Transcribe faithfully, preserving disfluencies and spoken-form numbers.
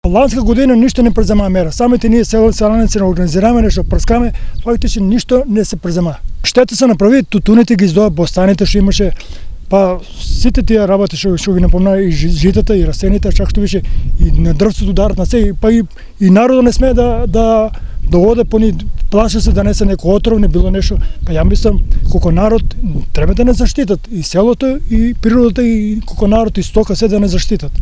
ланска година ништо не презема мера. Самите ние селаници не организираме нешто, прскаме, фактички ништо не се презема. Штета се направи, тутуните ги издоа, бостаните што имаше, па сите тие работи што што ги напомна и житата и растените, чак што беше и на дрвцето ударат на се, па и, и народот не смее да да да оде по ни, плаше се да не се некој отров, не било нешто. Па ја мислам колку народ треба да не заштитат и селото и природата и колку народ и стока се да не заштитат.